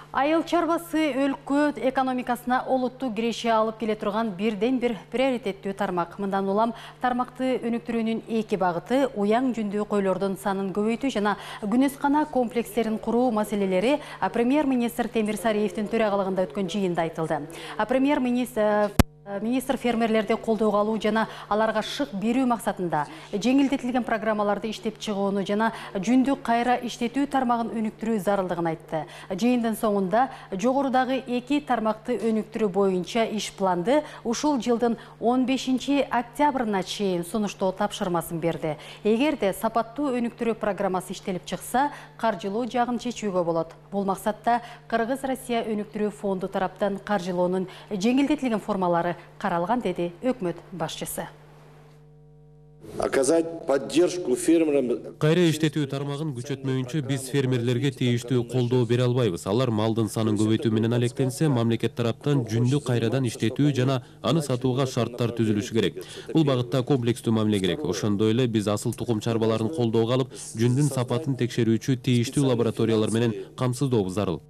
Айыл чарбасы өлкө экономикасына олуттуу киреше алып келе турган бирден бир приоритеттүү тармак. Мындан улам тармакты өнүктүрүүнүн эки багыты уяң жүндүү койлордун санын көбөйтүү жана күнөскана комплекстерин куруу маселелери премьер-министр Темир Сариевдин төрагалыгында өткөн жыйында айтылды. Министр фермерлерди колдоого алуу жана аларга шык берүү максатында жеңилдетилген программаларды иштеп чыгууну жана жүндү кайра иштетүү тармагын өнүктүрүү зарылдыгын айтты. Жыйындын соңунда жогорудагы эки тармакты өнүктүрүү боюнча иш планды ушул жылдын 15 октябрына чейин сунуштоо тапшырмасын берди. Эгерде сапаттуу өнүктүрүү программасы иштелип чыкса, каржылоо жагын чечүүгө болот. Бул максатта Кыргыз-Россия өнүктүрүү фонду тараптан каржылоонун жеңилдетилген формалары каралган, деди өкмөт башчысы. Оказать поддержку фермерам. Кайра иштетүү тармагын күчөтмөйүнчө биз фермерлерге тийиштүү колдоо бере албайбыз. Алар малдын санын көбөйтүү менен алектенсе, мамлекет тараптан жүндү кайрадан иштетүү жана аны сатууга шарттар түзүлүшү керек. Бул багытта комплекстүү мамиле керек. Ошондой эле биз асыл тукум чарбаларын колдоого алып, жүндүн сапатын текшерүүчү тийиштүү лабораториялар менен камсыздообуз зарыл.